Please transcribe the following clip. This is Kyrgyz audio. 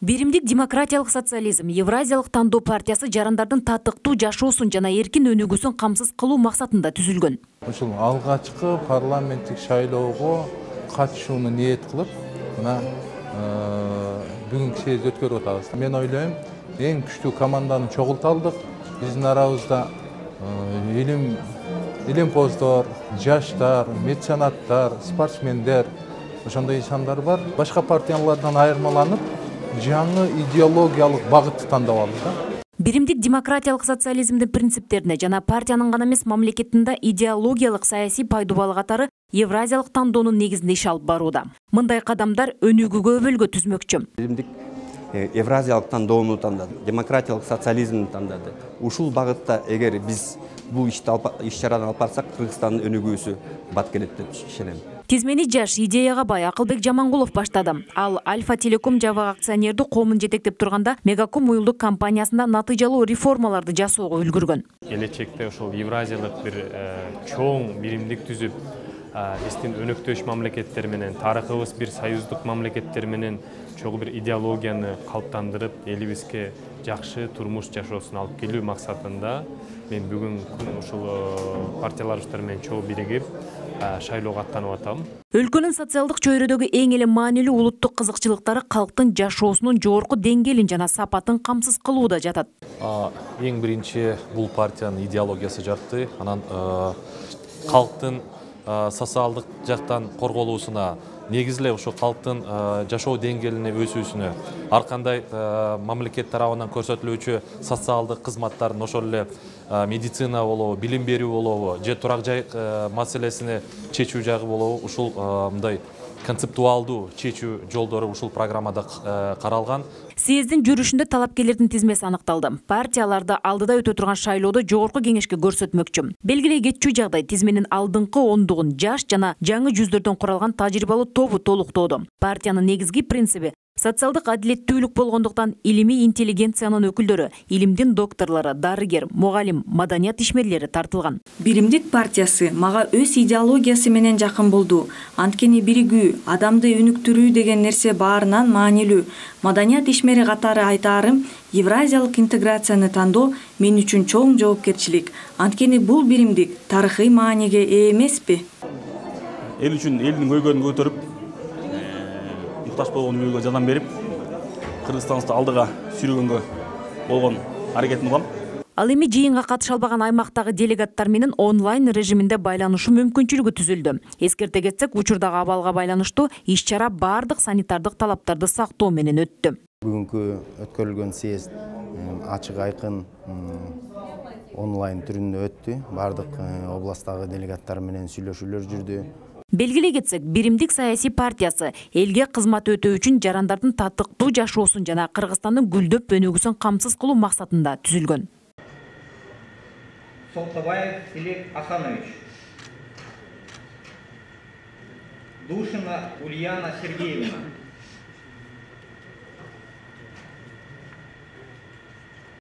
Биримдик демократиялык социализм Евразиялык тандоо партиясы жарандардын татыктуу жашоосун жана эркин өнүгүүсүн камсыз кылуу максатында түзүлгөн. Ушул алгачкы парламенттик шайлоого катышууну ниет кылып, мына бүгүнкү съезди өткөрүп атабыз. Мен ойлойм, эң күчтүү команданы чогулта алдык. Биздин арабызда илимпоздор, жаштар, меценаттар, спортсмендер, ошондой инсандар бар. Башка партиялардан айырмаланып, жаңы идеологиялык багытты тандап алды. Биримдик демократиялык социализмдин принциптерине жана партиянын гана эмес мамлекеттин да идеологиялык саясий пайдубалы катары Евразиялык тандоонун негизинде иш алып барууда. Мындай кадамдар өнүгүүгө өбөлгө түзмөкчү. Биримдик Евразиялык тандоону тандады, демократиялык социализмди тандады. Ушул багытта эгер биз бул иш-чараны алып барсак, Кыргызстандын өнүгүүсү бат келет деп ишенем. Тизмени жаш, идеяга бай Акылбек Жамангулов баштады. Ал Альфа Телеком жабык акционердүү коомун жетектеп турганда Мегаком уюлдук компаниясында натыйжалуу реформаларды жасоого үлгүргөн. Келечекте ошол Евразиялык бир чоң биримдик түзүп, биздин өнөктөш мамлекеттер менен, тарыхыбыз бир союздук мамлекеттер менен чогуу бир идеологияны калыптандырып, элибизге жакшы турмуш жашоосун алып келүү максатында мен бүгүн ушул партияларыбыздар менен чогуу биригип шайлоого аттанып атам. Өлкөнүн социалдык чөйрөдөгү эң эле маанилүү улуттук кызыкчылыктары калктын жашоосунун жогорку деңгээлин жана сапатын камсыз кылууда жатат. Эң биринчи бул партиянын идеологиясы жатты. Анан калктын социалдык жактан корголуусуна, негизиле ошо калктын жашоо деңгээлине өсүүсүнө, ар кандай мамлекет тарабынан көрсөтүлүүчү социалдык кызматтардын, ошол эле медицина болобу, билим берүү болобу, же турак жай маселесини чечүү жагы болобу, ушул мындай концептуалдуу чечүү жолдору ушул программада каралган. Съездин жүрүшүндө талапкерлердин тизмеси аныкталды. Партияларды алдыда өтө турган шайлоодо жогорку кеңешке көрсөтмөкчү. Белгилей кетчү жагдай тизменин алдыңкы ондугун жаш жана жаңы жүздөрдөн куралган тажрыйбалуу тобу толуктоодо. Партиянын негизги принциби социалдык адилеттүүлүк болгондуктан илимий интеллигенциянын өкүлдөрү, илимдин докторлору, дарыгер, мугалим, маданият ишмерлери тартылган. Биримдик партиясы мага өз идеологиясы менен жакын болду. Анткени биригүү, адамды өнүктүрүү деген нерсе баарынан маанилүү. Маданият ишмери катары айтаарым, Евразиялык интеграцияны тандоо мен үчүн чоң жоопкерчилик. Анткени бул биримдик тарыхый мааниге ээ эмеспи? Эл үчүн элдин көйгөйүн көтөрүп, муктаж болгон үйгө жардам берип, Кыргызстанды алдыга сүйрөгөнгө болгон аракетин кылам. Ал эми жыйынга катыша албаган аймактагы делегаттар менен онлайн режиминде байланышуу мүмкүнчүлүгү түзүлдү. Эскерте кетсек, учурдагы абалга байланыштуу иш-чара бардык санитардык талаптарды сактоо менен өттү. Бүгүнкү өткөрүлгөн съезд ачык айкын онлайн түрүндө өттү. Бардык областтагы делегаттар менен сүйлөшүүлөр жүрдү. Белгилей кетсек, Биримдик саясий партиясы элге кызмат өтөө үчүн жарандардын татыктуу жашоосун жана Кыргызстандын гүлдөп өнүгүүсүн камсыз кылуу максатында түзүлгөн. Солтабаев Илек Асанович, Душина Ульяна Сергеевна.